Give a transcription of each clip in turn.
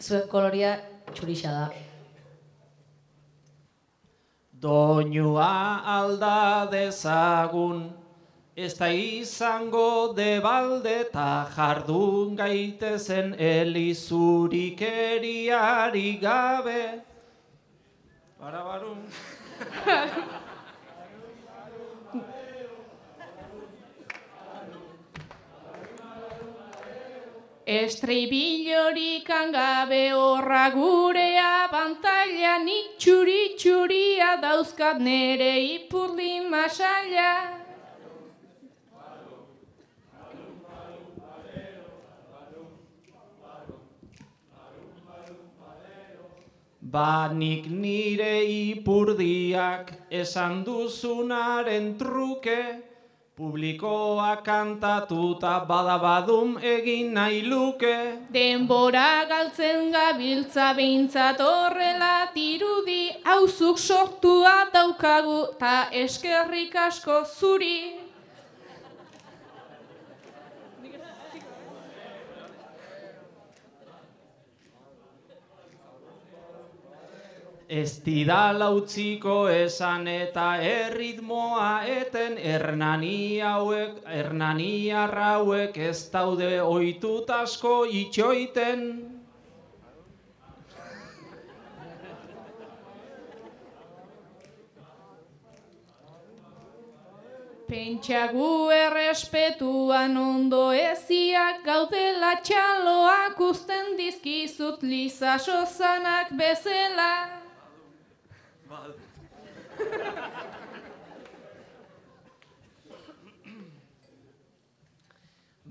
Zuen koloria txurixa da. Doinua alda dezagun, ez da izango debalde eta jardun gaitezen elizurikeriari gabe. Barabarun. Estribillorik gabe horra gurea bantaila, nik txuri-txuria dauzkat nere ipurdi masaila. Ba nik nire ipurdiak esan duzunaren truke, publikoa kantatuta badabadum egin nahi luke. Denbora galtzen gabiltza behintzat horrela dirudi, hauzuk sortua daukagu ta eskerrik asko zuri. Ez didala utziko esan eta erritmoa eten, hernaniarra hauek ez daude ohitut asko itxoiten. Pentsagu errespetuan ondo eziak gaudela, txaloak uzten dizkizut Liza Sosanak bezala.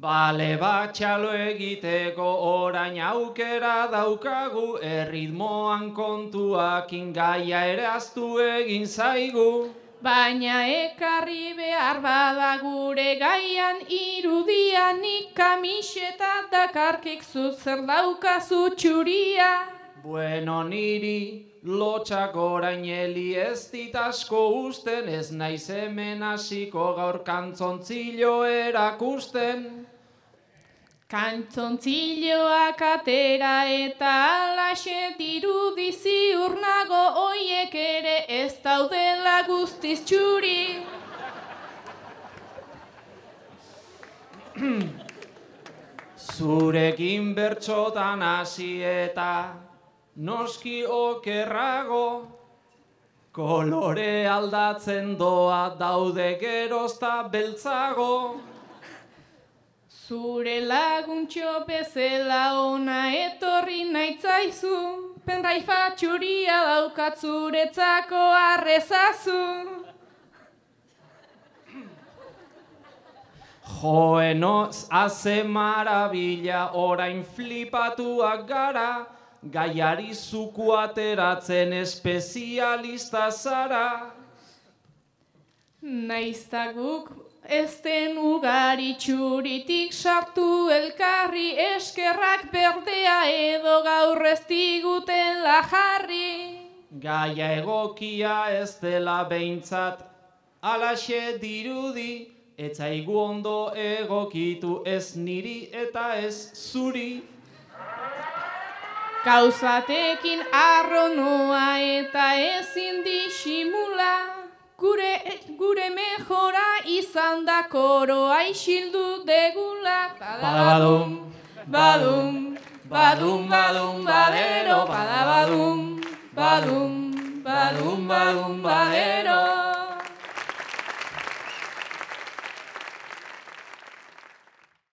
Bale bat txalo egiteko orain aukera daukagu, erritmoan kontuakin gaia ere ahaztu egin zaigu. Baina ekarri behar bada gure gaian irudianik kamiseta dakarkik zut zer daukazu txuria. Bueno, niri lotxak orain heli ez dit asko usten, ez naiz hemen hasiko gaur kantzontzilo erakusten. Kantzontziloak atera eta alaxe dirudi ziur nago, oiek ere ez daudela guztiz txuri. Zurekin bertxotan hasi eta noski okerrago, kolore aldatzen doa daude gerozta beltzago. Zure laguntxo bezala ona etorri naitzaizu, penraifa txuria daukat zuretzako arrezazu. Joenoz haze marabila orain flipatuak gara, gaiari zuku ateratzen espezialista zara. Naizta guk ez den ugari txuritik sartu elkarri, eskerrak berdea edo gaur ez digutela jarri. Gaia egokia ez dela behintzat, alaxe dirudi, ez zaigu ondo egokitu ez niri eta ez zuri. Gauzatekin arronoa eta ezin disimula, gure mejora izan da koroa isildu degula. Badabadum, badum, badum, badum, badero, badabadum, badum, badum, badum, badero.